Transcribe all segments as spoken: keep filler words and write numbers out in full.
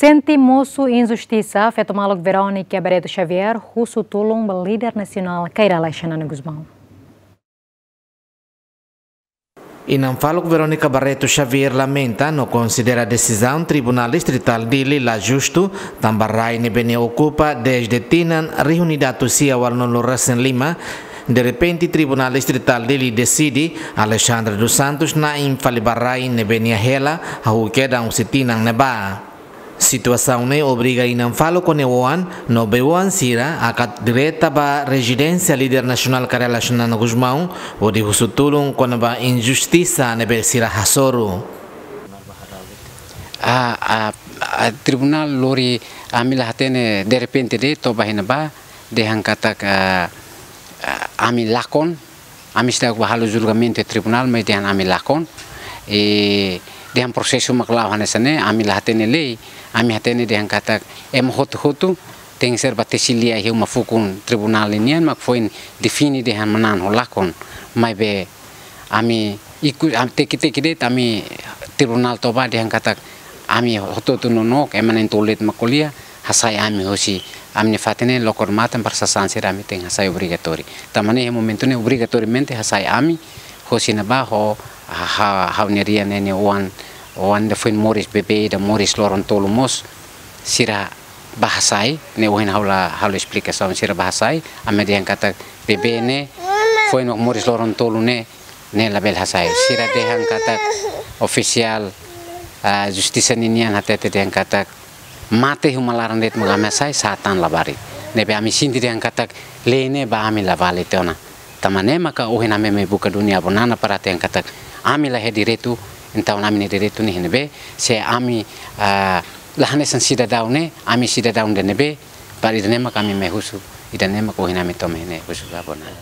Sente mosu injustisa, feto maluk Verónica Barreto Xavier husu tulun ba líder nasionál Kay Rala Xanana Gusmão. Inan faluk Verónica Barreto Xavier lamenta no konsidera desizaun Tribunál Distritál Dili la justu, tanba rai ne'ebé nia okupa dezde tinan rihun ida atus sia ualunulu resin lima, derrepente Tribunál Distritál Dili deside Alexandre dos Santos na'in fali ba rai ne'ebé nia hela hahú kedan husi tinan ne'ebá. Situasaun ne'e obriga inan faluk ho nia oan no bei-oan sira hakat direta ba rezidénsia líder nasionál Kay Rala Xanana Gusmão, hodi husu tulun kona-ba injustisa ne'ebé sira hasoru. A, a, a, tribunál lori ami la hatene derrepente de'it to'o ba iha ne'ebá, dehan katak, a, a, ami lakon, ami seidauk bá halo julgamentu iha tribunál, maibé dehan ami lakon. I dehan prosesu mak la'o hanesan ne'e, ami la hatene lei, ami hatene dehan katak ema hotu-hotu tenkesér bá tesi lia iha uma fukun tribunál ninian, mak foin define dehan manán ho lakon. Maibé ami ikus, am, teki-teki de'it ami tribunál to'o ba dehan katak ami hotu-hotu nonook, ema na'in-tolu de'it mak ko'alia, hasai ami hosi ami-nia fatin ne'e lokor matan para sasán sira ami tenke hasai obrigatóriu. Tanba ne'e iha momentu ne'e obrigatoriamente hasai ami hosi ne'ebá ho ha-, ha-, ha'u-nia rian ne'e nia oan, oan ida foin moris bebé ida moris loron tolu mós sira bá hasai, ne'e ohin ha'u la halo esplikasaun sira bá hasai, ami dehan katak bebé ne'e foin mak moris loron tolu ne'e ne'e labele hasai. Sira dehan katak ofisiál, ah, justisa ninian hatete dehan katak mate iha uma laran de'it mak ami hasai, sa'e tan labarik. Ne'ebé ami sente dehan katak lei ne'e ba ami la vale tiha ona. Tanba ne'e maka ohin ami mai buka duni Avó Nana para dehan katak ami la iha direitu, entaun ami-nia direitu ne'e iha ne'ebé, se ami, ah, la hanesan sidadaun ne'e, ami sidadaun ida ne'ebé, para ida-ne'e mak ami mai husu, ida-ne'e mak ohin ami to'o mai ne'e husu ba Avó Nana.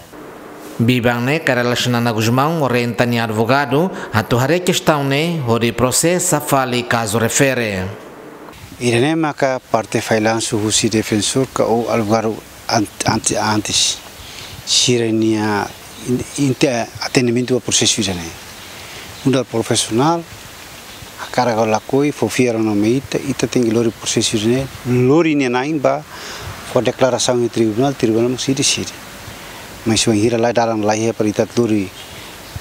Biban ne'e Kay Rala Xanana Gusmão orienta nia advogadu atu haree kestaun ne'e hodi prosesa fali kazu refere. Ida-ne'e maka parte failansu husi defensór ka ou advogadu ant-, ante-, antes. Sira-nia in-, inte-, atendimentu ba prosesu ida-ne'e. Nu'udar profisionál, hakarak ka lakohi, fó fiar ona mai ita, ita tenke lori prosesu ida-ne'e, lori nia na'in ba, fó deklarasaun iha tribunál, tribunál mós sei deside. Mas bainhira laiha dalan, laiha para ita lori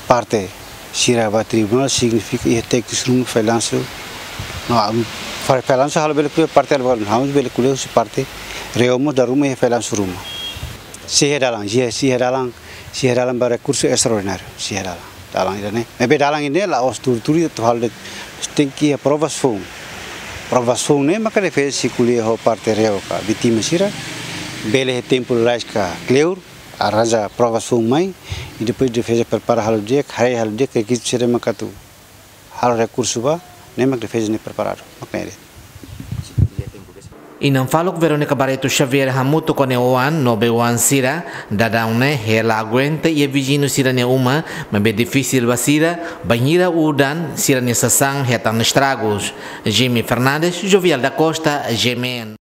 parte sira ba tribunál, signifika iha teknis ruma failansu. No, am, fa-, failansu halo bele ko'alia parte advogadu, ha'u bele ko'alia husi parte reo mós dala ruma iha failansu ruma. Sei iha dalan, sei iha, sei iha dalan, sei iha dalan ba rekursu estraordináriu, sei iha dalan. Dalan ida-ne'e. Maibé dalan ida-ne'e la'ós tuur-tuur atu halo de'it, tenke iha provas foun. Provas foun ne'e maka defeza sei ko'alia ho parte reo ka vítima sira. Bele iha tempu lalais ka kleur, arranja provas foun mai, i depois defeza prepara halo di'ak, haree halo di'ak, rekizitu sira maka atu halo rekursu ba, ne'e mak defeza ne'e preparadu, mak ne'e de'it. Inan faluk Verónica Barreto Xavier hamutuk ho nia oan no bei-oan sira, daudaun ne'e hela aguenta iha viziñu sira-nia uma, maibé difisil ba sira, bainhira udan sira-nia sasán hetan estragus. Jimmy Fernandes, Jovial da Costa, G M N.